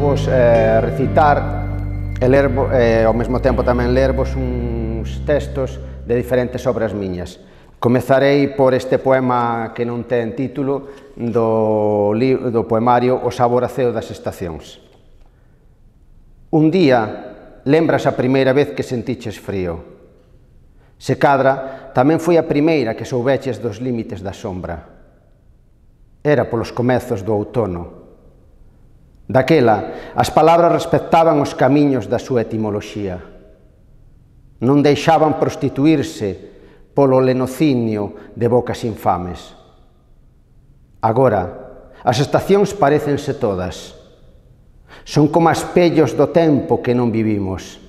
vos recitar e ler, ao mesmo tempo tamén lervos uns textos de diferentes obras miñas. Comezarei por este poema que non ten título do poemario O sabor aceo das estacións. Un día lembras a primeira vez que sentiches frío. Se cadra, tamén foi a primeira que soubeches dos límites da sombra. Era polos comezos do outono. Daquela, as palabras respectaban os camiños da súa etimoloxía. Non deixaban prostituirse polo lenocinio de bocas infames. Agora, as estacións parécense todas. Son como espellos do tempo que non vivimos,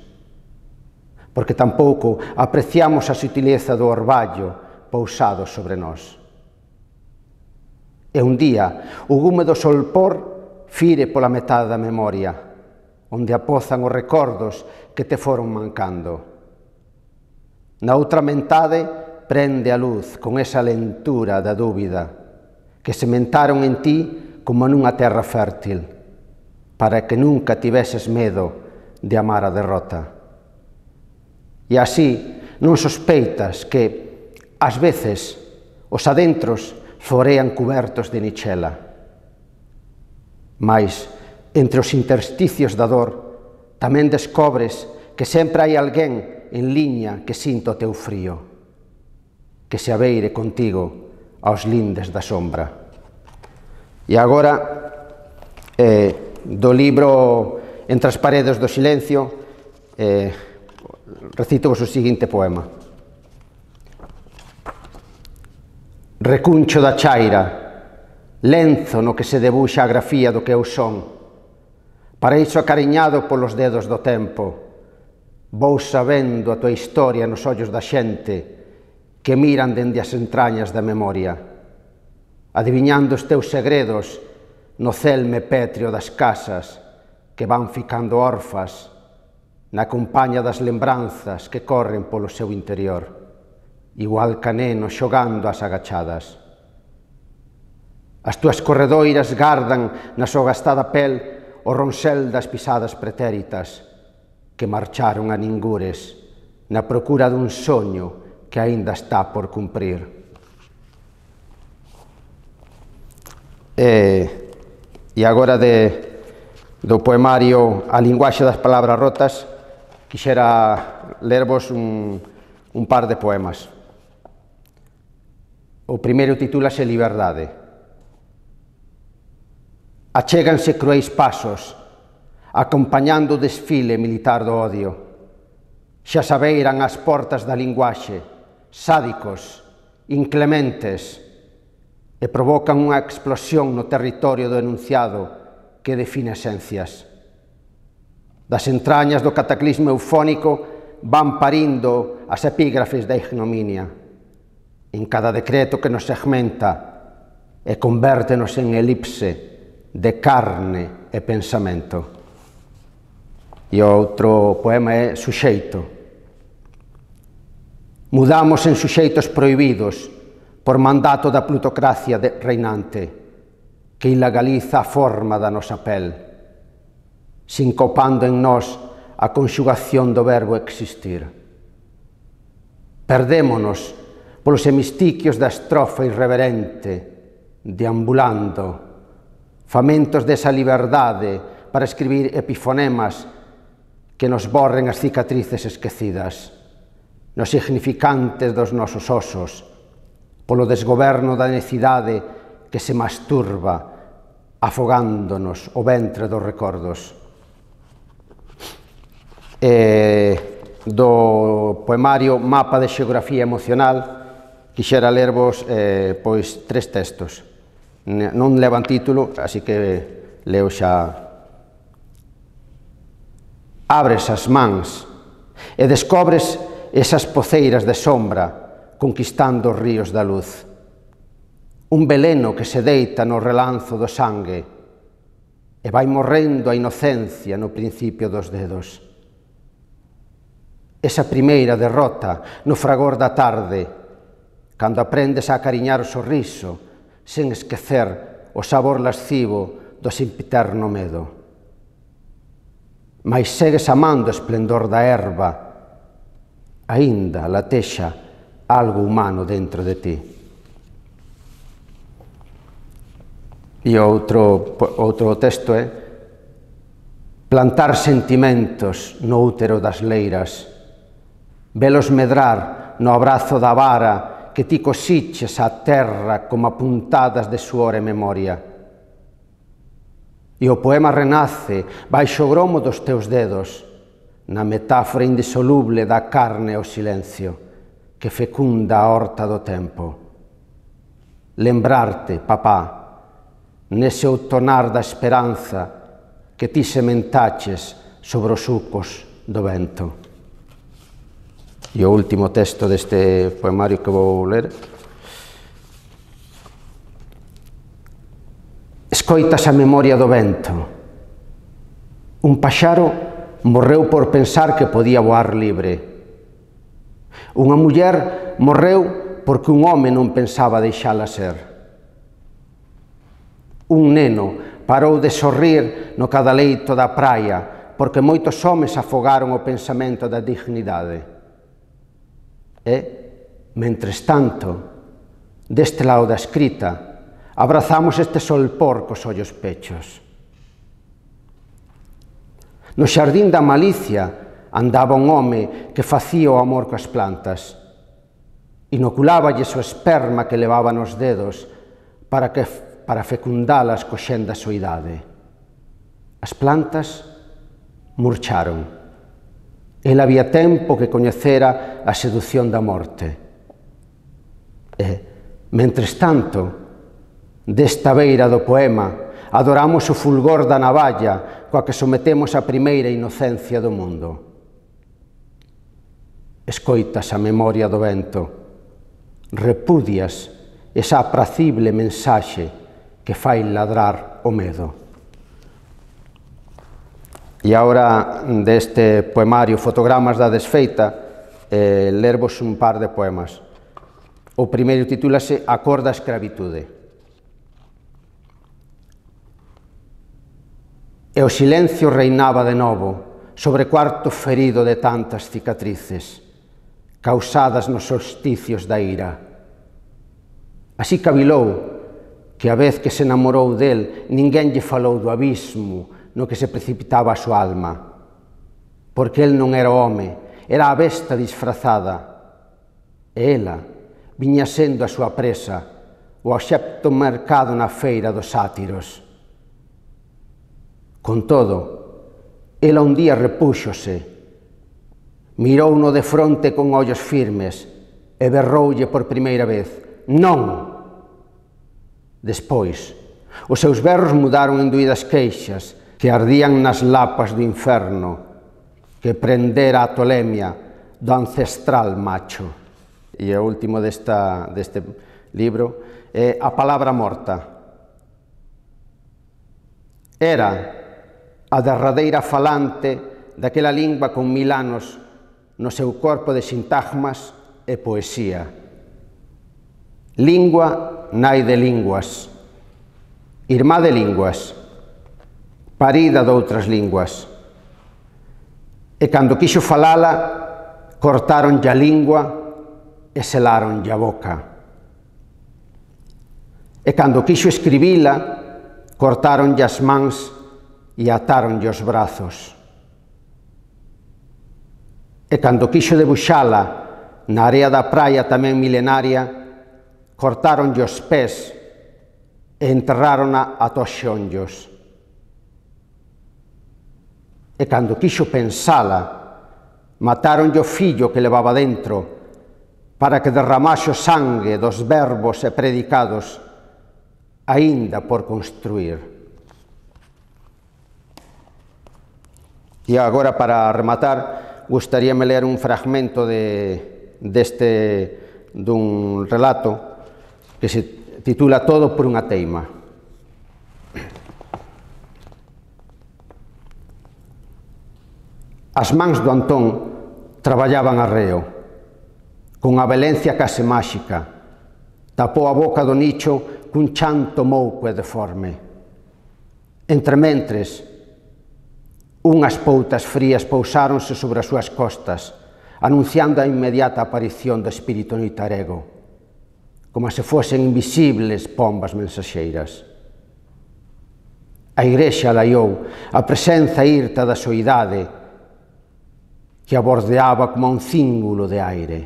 porque tampouco apreciamos a sutileza do orballo pousado sobre nós. E un día, o gume do solpor fire pola metade da memoria, onde apozan os recordos que te foron mancando. Na outra metade prende a luz con esa lentura da dúbida que sementaron en ti como nunha terra fértil, para que nunca tiveses medo de amar a derrota. E así non sospeitas que, ás veces, os adentros florean cubertos de nichela. Mais, entre os intersticios da dor, tamén descobres que sempre hai alguén en liña que sinta o teu frío, que se abeire contigo aos lindes da sombra. E agora, do libro Entre as paredes do silencio, recito-vos o seguinte poema. Recuncho da chaira, lenzo no que se debuxa a grafía do que eu son, paraíso acariñado polos dedos do tempo, vou sabendo a tua historia nos ollos da xente que miran dende as entrañas da memoria, adiviñando os teus segredos no celme pétreo das casas que van ficando órfas na compaña das lembranzas que corren polo seu interior, igual ca nenos xogando ás agachadas. As túas corredoiras gardan na súa gastada pel o ronsel das pisadas pretéritas que marcharon a ningures na procura dun soño que aínda está por cumprir. E agora do poemario A linguaxe das palabras rotas, quixera lervos un par de poemas. O primeiro titúlase Liberdade. Achéganse cruéis pasos, acompañando o desfile militar do odio. Xa sabeiran as portas da linguaxe, sádicos, inclementes, e provocan unha explosión no territorio do enunciado que define esencias. Das entrañas do cataclismo eufónico van parindo as epígrafes da ignominia, en cada decreto que nos segmenta e convértenos en elipse de carne e pensamento. E o outro poema é Suxeito. Mudamos en suxeitos prohibidos por mandato da plutocracia reinante que ilegaliza a forma da nosa pel, sincopando en nós a conxugación do verbo existir. Perdémonos polos hemistiquios da estrofa irreverente, deambulando, famentos desa liberdade para escribir epifonemas que nos borren as cicatrices esquecidas, nos significantes dos nosos osos, polo desgoberno da necidade que se masturba, afogándonos o ventre dos recordos. Do poemario Mapa de xeografía emocional, quixera lervos pois 3 textos. Non levan título, así que leo xa. Abres as mans e descobres esas poceiras de sombra conquistando os ríos da luz. Un veleno que se deita no relanzo do sangue e vai morrendo a inocencia no principio dos dedos. Esa primeira derrota no fragor da tarde, cando aprendes a acariñar o sorriso sen esquecer o sabor lascivo do sempiterno medo. mais segues amando o esplendor da erva, aínda latexa algo humano dentro de ti. E outro texto é: plantar sentimentos no útero das leiras, velos medrar no abrazo da vara que ti cosiches á terra como apuntadas de suor e memoria. E o poema renace baixo o gromo dos teus dedos, na metáfora indisoluble da carne e o silencio, que fecunda a horta do tempo. Lembrarte, papá, nese outonar da esperanza que ti sementaches sobre os sucos do vento. E o último texto deste poemario que vou ler: escoitas a memoria do vento. Un paxaro morreu por pensar que podía voar libre. Unha muller morreu porque un home non pensaba deixala ser. Un neno parou de sorrir no cadaleito da praia porque moitos homes afogaron o pensamento da dignidade. E, mentres tanto, deste lado da escrita, abrazamos este solpor cos ollos pechos. No xardín da malicia andaba un home que facía o amor coas plantas. Inoculáballes o esperma que levaba nos dedos para fecundalas co xen da soidade. As plantas murcharon. El había tempo que coñecera a seducción da morte. E, mentres tanto, desta beira do poema, adoramos o fulgor da navalla coa que sometemos a primeira inocencia do mundo. Escoitas a memoria do vento, repudias esa apracible mensaxe que fai ladrar o medo. E agora, deste poemario Fotogramas da desfeita, lervos un par de poemas. O primeiro titúlase A cor da escravitude. E o silencio reinaba de novo sobre cuarto ferido de tantas cicatrices, causadas nos solsticios da ira. Así cavilou que a vez que se namorou del, ninguén lle falou do abismo no que se precipitaba a súa alma, porque el non era o home, era a besta disfrazada, e ela viña sendo a súa presa, o obxecto mercado na feira dos sátiros. Con todo, ela un día repúxose, mirouno de fronte con ollos firmes e berroulle por primeira vez: non! Despois, os seus berros mudaron en doídas queixas que ardían nas lapas do inferno que prendera a tolemia do ancestral macho. E o último deste libro é A palabra morta. Era a derradeira falante daquela lingua con 1000 anos no seu corpo de sintagmas e poesía. Lingua nai de linguas, irmá de linguas, parida doutras linguas. E cando quixo falala, cortaronlle a lingua e selaronlle a boca. E cando quixo escribila, cortaronlle as mans e atáronlle os brazos. E cando quixo debuxala na area da praia tamén milenaria, cortaronlle os pés e enterrárona ata os xonllos. E cando quixo pensala, matáronlle o fillo que levaba dentro para que derramase o sangue dos verbos e predicados aínda por construir. E agora, para rematar, gustaríame ler un fragmento dun relato que se titula Todo por unha teima. As mans do Antón traballaban arreo, con a velencia case máxica, tapou a boca do nicho cun chanto mouco e deforme. Entrementres, Unhas poutas frías pousáronse sobre as súas costas, anunciando a inmediata aparición do espírito noitarego, como se fosen invisibles pombas mensaxeiras. A Igrexa laiou a presenza irta da soidade que a bordeaba como un cíngulo de aire,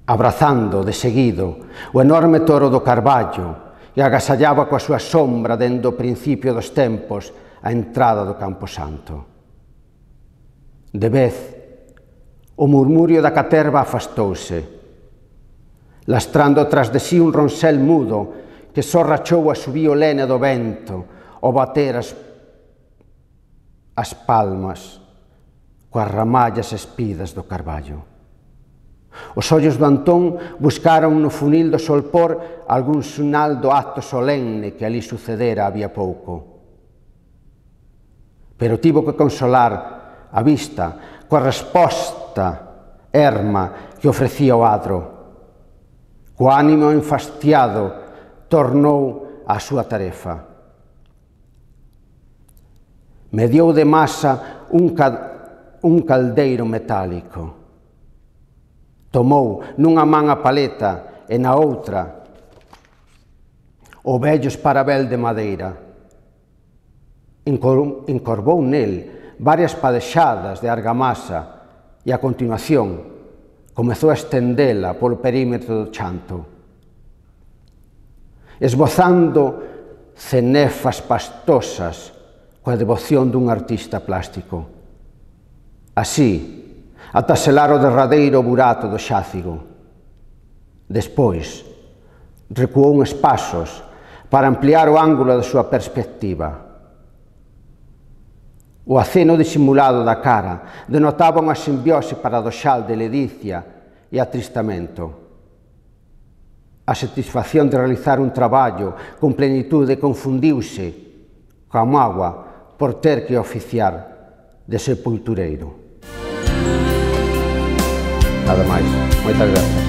abrazando, de seguido, o enorme toro do Carballo e agasallaba coa súa sombra dende o principio dos tempos a entrada do Camposanto. De vez, o murmurio da caterva afastouse, lastrando tras de sí un ronsel mudo que só rachou a subío lene do vento ao bater as palmas coas ramallas espidas do carballo. Os ollos do Antón buscaron no funil do solpor algún sinal do acto solemne que ali sucedera había pouco. Pero tivo que consolar a vista coa resposta erma que ofrecía o adro. Co ánimo enfastiado tornou á súa tarefa. Mediou de masa un caldeiro metálico. Tomou nunha man a paleta e na outra o vello esparabel de madeira. Encorvou nel varias padexadas de argamasa e, a continuación, comezou a estendela polo perímetro do chanto, esbozando cenefas pastosas coa devoción dun artista plástico. Así, ata selar o derradeiro burato do xácigo. Despois, recuou uns pasos para ampliar o ángulo da súa perspectiva. O aceno disimulado da cara denotaba unha simbiose paradoxal de ledicia e atristamento. A satisfacción de realizar un traballo con plenitude confundiuse coa mágoa por ter que oficiar de sepultureiro. Nada máis. Moitas grazas.